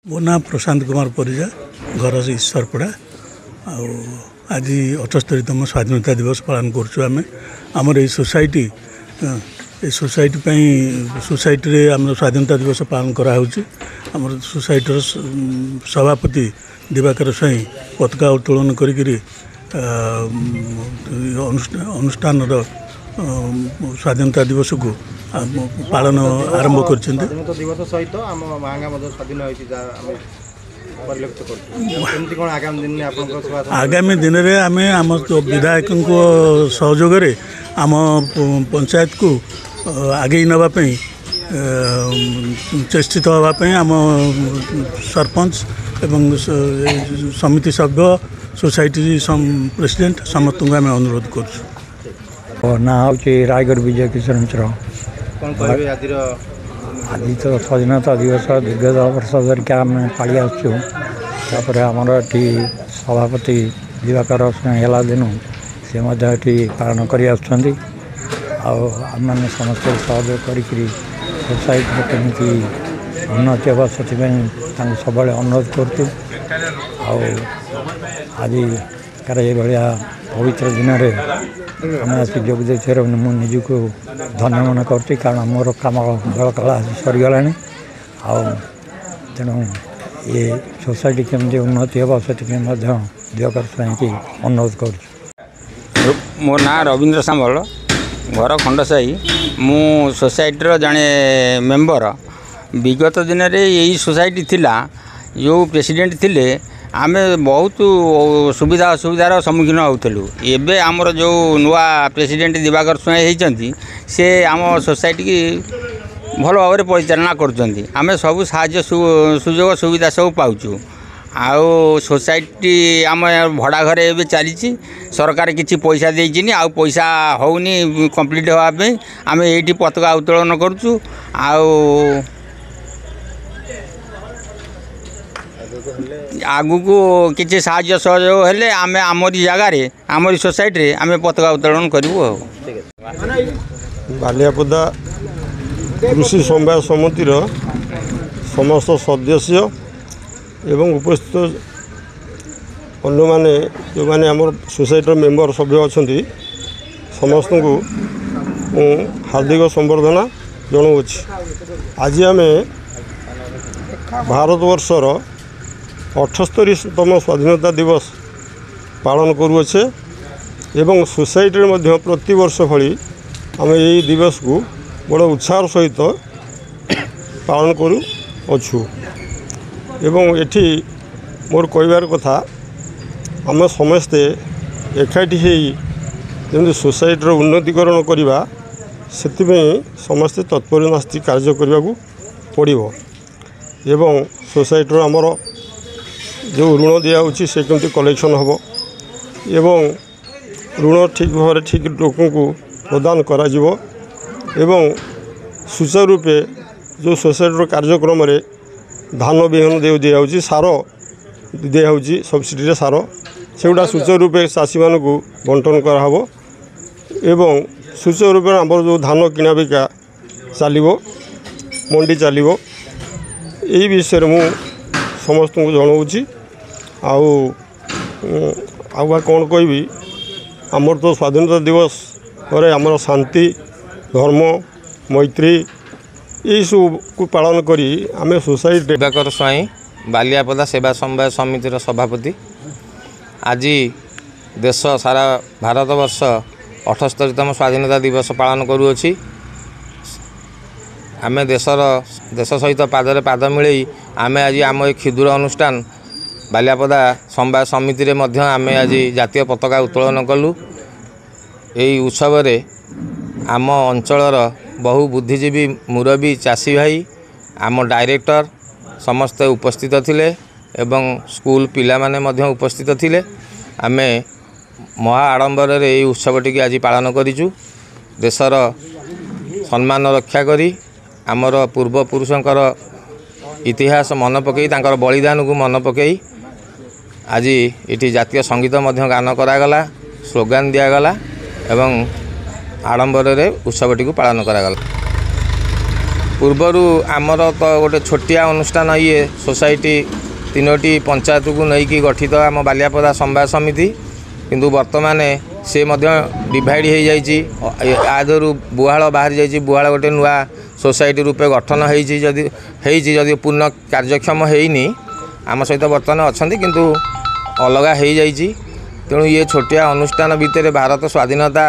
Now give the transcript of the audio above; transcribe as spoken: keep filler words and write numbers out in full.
ମୋ ନାଁ ପ୍ରଶାନ୍ତ କୁମାର ପରିଜା, ଘର ଈଶ୍ୱରପଡ଼ା। ଆଉ ଆଜି ଅଠସ୍ତରୀତମ ସ୍ୱାଧୀନତା ଦିବସ ପାଳନ କରୁଛୁ ଆମେ। ଆମର ଏଇ ସୋସାଇଟି, ଏ ସୋସାଇଟି ପାଇଁ ସୋସାଇଟିରେ ଆମର ସ୍ୱାଧୀନତା ଦିବସ ପାଳନ କରାହେଉଛି। ଆମର ସୋସାଇଟିର ସଭାପତି ଦିବାକର ସ୍ୱାଇଁ ପତାକା ଉତ୍ତୋଳନ କରିକିରି ଅନୁଷ୍ଠାନର ସ୍ୱାଧୀନତା ଦିବସକୁ ପାଳନ ଆରମ୍ଭ କରିଛନ୍ତି। ସ୍ୱାଧୀନତା ଦିବସ ସହିତ ଆମ ମାହାଙ୍ଗା ମଧ୍ୟ ସ୍ୱାଧୀନ ହୋଇଛି, ଯାହା ଆମେ ପରିଲକ୍ଷିତ କରୁଛୁ। କେମିତି କ'ଣ ଆଗାମୀ ଦିନରେ ଆପଣଙ୍କ ସେବା? ଆଗାମୀ ଦିନରେ ଆମେ ଆମ ବିଧାୟକଙ୍କ ସହଯୋଗରେ ଆମ ପଞ୍ଚାୟତକୁ ଆଗେଇ ନେବା ପାଇଁ ଚେଷ୍ଟିତ ହେବା ପାଇଁ ଆମ ସରପଞ୍ଚ ଏବଂ ସମିତି ସଭ୍ୟ, ସୋସାଇଟି ପ୍ରେସିଡେଣ୍ଟ ସମସ୍ତଙ୍କୁ ଆମେ ଅନୁରୋଧ କରୁଛୁ। ନାଁ ହେଉଛି ରାୟଗଡ଼ ବିଜୟ କିଶୋର ମିଶ୍ର। କ'ଣ କହିବେ ଆଜିର? ଆଜି ତ ସ୍ୱାଧୀନତା ଦିବସ ଦୀର୍ଘ ବର୍ଷ ଧରିକି ଆମେ ପାଳି ଆସୁଛୁ। ତାପରେ ଆମର ଏଠି ସଭାପତି ଦିବାକର ହେଲା ଦିନୁ ସେ ମଧ୍ୟ ଏଠି ପାଳନ କରି ଆସୁଛନ୍ତି। ଆଉ ଆମେମାନେ ସମସ୍ତେ ସହଯୋଗ କରିକିରି ସୋସାଇଟିର କେମିତି ଉନ୍ନତି ହେବ ସେଥିପାଇଁ ତାଙ୍କୁ ସବୁବେଳେ ଅନୁରୋଧ କରୁଛୁ। ଆଉ ଆଜିକାର ଏଇଭଳିଆ ପବିତ୍ର ଦିନରେ ଆମେ ଆସି ଯୋଗ ଦେଇଥିବାରୁ ମୁଁ ନିଜକୁ ଧନ୍ୟ ମନେ କରୁଛି, କାରଣ ମୋର କାମ ବେଳକାଳ ଆସି ସରିଗଲାଣି। ଆଉ ତେଣୁ ଏ ସୋସାଇଟି କେମିତି ଉନ୍ନତି ହେବ ସେଥିପାଇଁ ମଧ୍ୟ ଦିବାକର ସ୍ୱାଇଁକି ଅନୁରୋଧ କରୁଛୁ। ମୋ ନାଁ ରବୀନ୍ଦ୍ର ସାମଲ, ଘର ଖଣ୍ଡସାହି। ମୁଁ ସୋସାଇଟିର ଜଣେ ମେମ୍ବର। ବିଗତ ଦିନରେ ଏଇ ସୋସାଇଟି ଥିଲା, ଯେଉଁ ପ୍ରେସିଡେଣ୍ଟ ଥିଲେ, ଆମେ ବହୁତ ସୁବିଧା ଅସୁବିଧାର ସମ୍ମୁଖୀନ ହେଉଥିଲୁ। ଏବେ ଆମର ଯେଉଁ ନୂଆ ପ୍ରେସିଡେଣ୍ଟ ଦିବାକର ସ୍ୱାଇଁ ହେଇଛନ୍ତି, ସେ ଆମ ସୋସାଇଟିକି ଭଲ ଭାବରେ ପରିଚାଳନା କରୁଛନ୍ତି। ଆମେ ସବୁ ସାହାଯ୍ୟ ସୁଯୋଗ ସୁବିଧା ସବୁ ପାଉଛୁ। ଆଉ ସୋସାଇଟି ଆମ ଭଡ଼ା ଘରେ ଏବେ ଚାଲିଛି। ସରକାର କିଛି ପଇସା ଦେଇଛିନି, ଆଉ ପଇସା ହେଉନି କମ୍ପ୍ଲିଟ୍ ହେବା ପାଇଁ। ଆମେ ଏଇଠି ପତାକା ଉତ୍ତୋଳନ କରୁଛୁ। ଆଉ ଆଗକୁ କିଛି ସାହାଯ୍ୟ ସହଯୋଗ ହେଲେ ଆମେ ଆମରି ଜାଗାରେ, ଆମରି ସୋସାଇଟିରେ ଆମେ ପତାକା ଉତ୍ତୋଳନ କରିବୁ। ଆଉ ବାଲିଆପଦା କୃଷି ସମବାୟ ସମିତିର ସମସ୍ତ ସଦସ୍ୟ ଏବଂ ଉପସ୍ଥିତ ଅନ୍ୟମାନେ, ଯେଉଁମାନେ ଆମର ସୋସାଇଟିର ମେମ୍ବର ସଭ୍ୟ ଅଛନ୍ତି, ସମସ୍ତଙ୍କୁ ମୁଁ ହାର୍ଦ୍ଦିକ ସମ୍ବର୍ଦ୍ଧନା ଜଣାଉଅଛି। ଆଜି ଆମେ ଭାରତବର୍ଷର ଅଠସ୍ତରୀତମ ସ୍ୱାଧୀନତା ଦିବସ ପାଳନ କରୁଅଛେ ଏବଂ ସୋସାଇଟିରେ ମଧ୍ୟ ପ୍ରତିବର୍ଷ ଭଳି ଆମେ ଏଇ ଦିବସକୁ ବଡ଼ ଉତ୍ସାହର ସହିତ ପାଳନ କରୁଅଛୁ। ଏବଂ ଏଠି ମୋର କହିବାର କଥା, ଆମେ ସମସ୍ତେ ଏକାଠି ହେଇ ଯେମିତି ସୋସାଇଟିର ଉନ୍ନତିକରଣ କରିବା ସେଥିପାଇଁ ସମସ୍ତେ ତତ୍ପର ନାସ୍ତି କାର୍ଯ୍ୟ କରିବାକୁ ପଡ଼ିବ। ଏବଂ ସୋସାଇଟିର ଆମର ଯେଉଁ ଋଣ ଦିଆହେଉଛି ସେ କେମିତି କଲେକ୍ସନ୍ ହେବ ଏବଂ ଋଣ ଠିକ୍ ଭାବରେ ଠିକ୍ ଲୋକଙ୍କୁ ପ୍ରଦାନ କରାଯିବ ଏବଂ ସୁଚାରୁ ରୂପେ ଯେଉଁ ସୋସାଇଟିର କାର୍ଯ୍ୟକ୍ରମରେ ଧାନ ବିହନ ଦେଉ ଦିଆହେଉଛି, ସାର ଦିଆହେଉଛି, ସବସିଡ଼ିରେ ସାର, ସେଗୁଡ଼ା ସୁଚାରୁ ରୂପେ ଚାଷୀମାନଙ୍କୁ ବଣ୍ଟନ କରାହେବ ଏବଂ ସୁଚାରୁ ରୂପେ ଆମର ଯେଉଁ ଧାନ କିଣା ବିକା ଚାଲିବ, ମଣ୍ଡି ଚାଲିବ, ଏଇ ବିଷୟରେ ମୁଁ ସମସ୍ତଙ୍କୁ ଜଣାଉଛି। ଆଉ ଆଉ ବା କ'ଣ କହିବି, ଆମର ତ ସ୍ୱାଧୀନତା ଦିବସ ପରେ ଆମର ଶାନ୍ତି, ଧର୍ମ, ମୈତ୍ରୀ ଏଇସବୁକୁ ପାଳନ କରି ଆମେ ସୋସାଇଟି। ଦିବାକର ସ୍ୱାଇଁ, ବାଲିଆପଦା ସେବା ସମବାୟ ସମିତିର ସଭାପତି। ଆଜି ଦେଶ ସାରା ଭାରତବର୍ଷ ଅଠସ୍ତରୀତମ ସ୍ୱାଧୀନତା ଦିବସ ପାଳନ କରୁଅଛି। ଆମେ ଦେଶର ଦେଶ ସହିତ ପାଦରେ ପାଦ ମିଳେଇ ଆମେ ଆଜି ଆମ ଏ କ୍ଷୁଦ୍ର ଅନୁଷ୍ଠାନ ବାଲିଆପଦା ସମବାୟ ସମିତିରେ ମଧ୍ୟ ଆମେ ଆଜି ଜାତୀୟ ପତାକା ଉତ୍ତୋଳନ କଲୁ। ଏହି ଉତ୍ସବରେ ଆମ ଅଞ୍ଚଳର ବହୁ ବୁଦ୍ଧିଜୀବୀ, ମୁରବୀ, ଚାଷୀ ଭାଇ, ଆମ ଡାଇରେକ୍ଟର ସମସ୍ତେ ଉପସ୍ଥିତ ଥିଲେ ଏବଂ ସ୍କୁଲ ପିଲାମାନେ ମଧ୍ୟ ଉପସ୍ଥିତ ଥିଲେ। ଆମେ ମହା ଆଡ଼ମ୍ବରରେ ଏହି ଉତ୍ସବଟିକି ଆଜି ପାଳନ କରିଛୁ। ଦେଶର ସମ୍ମାନ ରକ୍ଷା କରି ଆମର ପୂର୍ବପୁରୁଷଙ୍କର ଇତିହାସ ମନେ ପକାଇ, ତାଙ୍କର ବଳିଦାନକୁ ମନେ ପକାଇ ଆଜି ଏଠି ଜାତୀୟ ସଙ୍ଗୀତ ମଧ୍ୟ ଗାନ କରାଗଲା, ସ୍ଲୋଗାନ ଦିଆଗଲା ଏବଂ ଆଡ଼ମ୍ବରରେ ଉତ୍ସବଟିକୁ ପାଳନ କରାଗଲା। ପୂର୍ବରୁ ଆମର ତ ଗୋଟେ ଛୋଟିଆ ଅନୁଷ୍ଠାନ ଇଏ ସୋସାଇଟି, ତିନୋଟି ପଞ୍ଚାୟତକୁ ନେଇକି ଗଠିତ ଆମ ବାଲିଆପଦା ସମବାୟ ସମିତି। କିନ୍ତୁ ବର୍ତ୍ତମାନ ସେ ମଧ୍ୟ ଡିଭାଇଡ଼ ହେଇଯାଇଛି, ଆ ଦେହରୁ ବୁହାଳ ବାହାରି ଯାଇଛି। ବୁହାଳ ଗୋଟେ ନୂଆ ସୋସାଇଟି ରୂପେ ଗଠନ ହେଇଛି, ଯଦି ହେଇଛି, ଯଦି ପୂର୍ଣ୍ଣ କାର୍ଯ୍ୟକ୍ଷମ ହେଇନି। ଆମ ସହିତ ବର୍ତ୍ତମାନ ଅଛନ୍ତି, କିନ୍ତୁ ଅଲଗା ହେଇଯାଇଛି। ତେଣୁ ଇଏ ଛୋଟିଆ ଅନୁଷ୍ଠାନ ଭିତରେ ଭାରତ ସ୍ୱାଧୀନତା